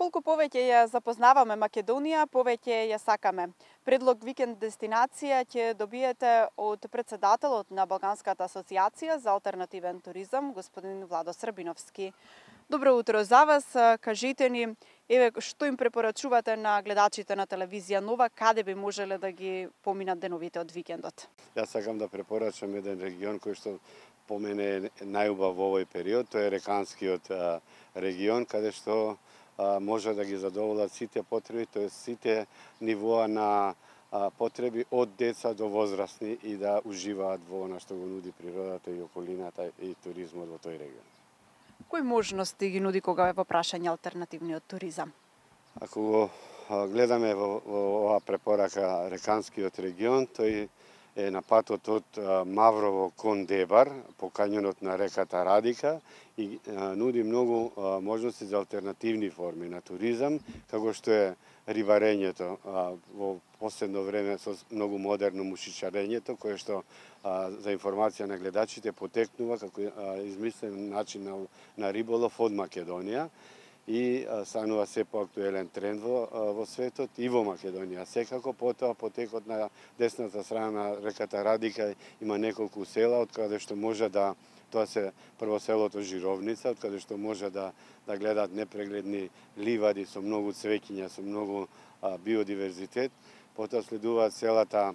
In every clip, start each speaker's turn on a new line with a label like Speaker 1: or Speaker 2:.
Speaker 1: Колку повеќе ја запознаваме Македонија, повеќе ја сакаме. Предлог викенд дестинација ќе добиете од претседателот на Балканската асоциација за алтернативен туризам, господин Владо Србиновски. Добро утро за вас, кажете ни, што им препорачувате на гледачите на телевизија Нова, каде би можеле да ги поминат деновите од викендот?
Speaker 2: Јас сакам да препорачам еден регион кој што по мене е најубав во овој период, тоа е Реканскиот регион, каде што може да ги задоволат сите потреби, тоа сите нивоа на потреби од деца до возрастни и да уживаат во она што го нуди природата и околината и туризмот во тој регион.
Speaker 1: Кои можности ги нуди кога е во прашање алтернативниот туризам?
Speaker 2: Ако го гледаме во оваа препорака Реканскиот регион, тој е на патот од Маврово кон Дебар, по кањонот на реката Радика и нуди многу можности за алтернативни форми на туризам, како што е рибарењето, во последно време со многу модерно мушичарењето, кое што за информација на гледачите потекнува како измислен начин на риболов од Македонија и станува се поактуелен тренд во светот и во Македонија. Секако потоа потекот на десната страна на реката Радика има неколку села од каде што може да тоа се прво селото Жировница, од каде што може да гледаат непрегледни ливади со многу цвеќиња, со многу биодиверзитет. Потоа следуваат селата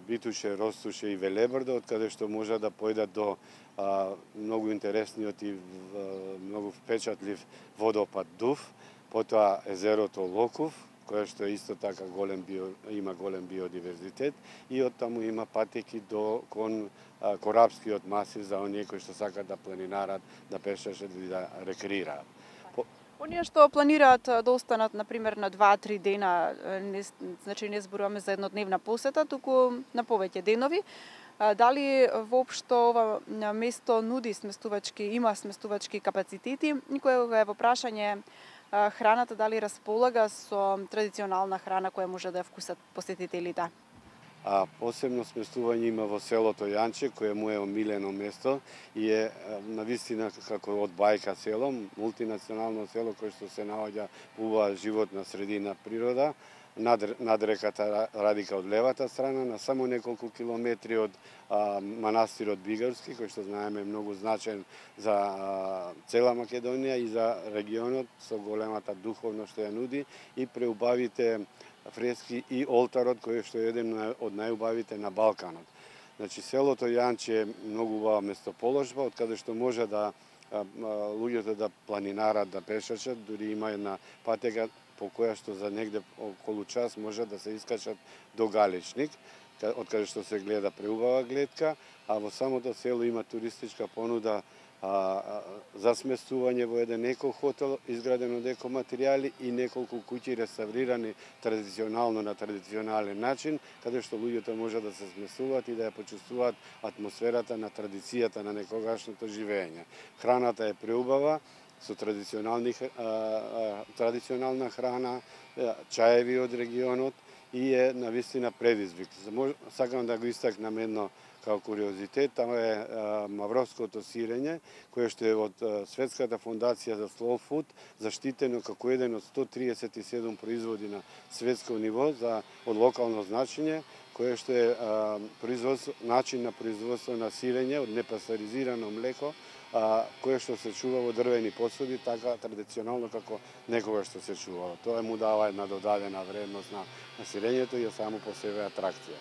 Speaker 2: Битуше, Ростуше и Велебрдо, од каде што може да појдат до многу интересниот и многу впечатлив водопад Дув, потоа езерото Локов, кое што исто така има голем биодиверзитет и оттаму има патеки кон Корапскиот масив за оние кои што сакат да планинарат, да пешачат и да рекреираат.
Speaker 1: Оние што планираат да останат, например, на 2-3 дена, значи не зборуваме за еднодневна посета, туку на повеќе денови, дали воопшто ова место нуди има сместувачки капацитети, и кога е во прашање храната, дали располага со традиционална храна која може да ја вкусат посетителите?
Speaker 2: Посебно сместување има во селото Јанче, кое му е омилено место и е навистина како од бајка село, мултинационално село кое што се наоѓа убава животна средина природа, над реката Радика од левата страна, на само неколку километри од манастирот Бигарски, кој што знаеме е многу значен за цела Македонија и за регионот со големата духовност што ја нуди и преубавите фрески и олтарот кој што е еден од најубавите на Балканот. Значи селото Јанче е многу убава местоположба од каде што може да луѓето да планинарат, да пешачат, дури има една патека по која што за негде околу час може да се искачат до Галичник, од каде што се гледа преубава гледка, а во самото село има туристичка понуда за сместување во еден еко-хотел, изграден од екоматеријали и неколку куќи реставрирани традиционално на традиционален начин, каде што луѓето може да се сместуваат и да ја почувствуваат атмосферата на традицијата на некогашното живење. Храната е преубава, со традиционална храна, чаеви од регионот и е навистина предизвик. Сакам да го истакнам едно како куриозитет, тама е мавровското сирење, кое што е од Светската фондација за Slow Food, заштитено како еден од 137 производи на светско ниво од локално значење, кое што е начин на производство на сирење од непастеризирано млеко, кое што се чува во дрвени посуди, така традиционално како некогаш што се чувало. Тоа му дава една додадена вредност на сирењето и е само по себе атракција.